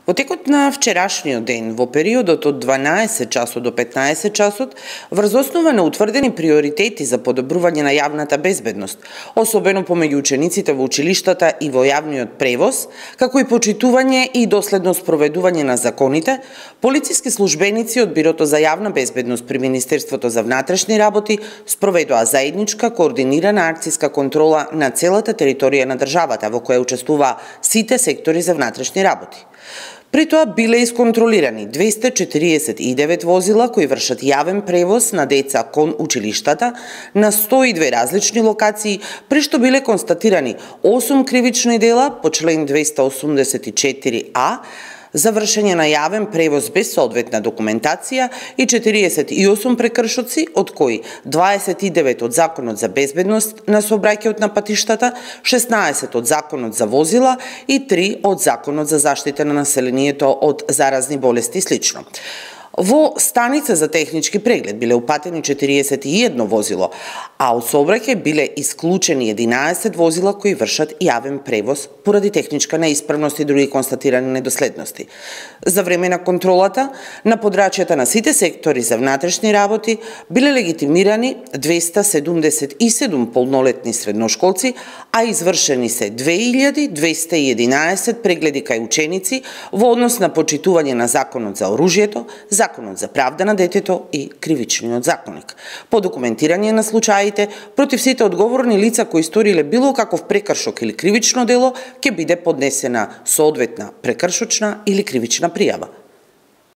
Во текот на вчерашниот ден, во периодот од 12 часот до 15 часот, врз основа на утврдени приоритети за подобрување на јавната безбедност, особено помеѓу учениците во училиштата и во јавниот превоз, како и почитување и доследно спроведување на законите, полициски службеници од Бирото за јавна безбедност при Министерството за внатрешни работи спроведоа заедничка координирана акцијска контрола на целата територија на државата, во која учествуваа сите сектори за внатрешни работи. При тоа биле исконтролирани 249 возила кои вршат јавен превоз на деца кон училиштата на 102 различни локации, при што биле констатирани 8 кривични дела по член 284а за вршење на јавен превоз без соодветна документација и 48 прекршоци, од кои 29 од Законот за безбедност на сообраќајот на патиштата, 16 од Законот за возила и 3 од Законот за заштита на населението од заразни болести и слично. Во станица за технички преглед биле упатени 41 возило, а од сообраќај биле исклучени 11 возила кои вршат јавен превоз поради техничка неисправност и други констатирани недоследности. За време на контролата на подрачјата на сите сектори за внатрешни работи биле легитимирани 277 полнолетни средношколци, а извршени се 2211 прегледи кај ученици во однос на почитување на Законот за оружјето, Законот за правда на детето и Кривичниот законник. По документирање на случаите против сите одговорни лица кои сториле било каков прекршок или кривично дело ќе биде поднесена соодветна прекршочна или кривична пријава.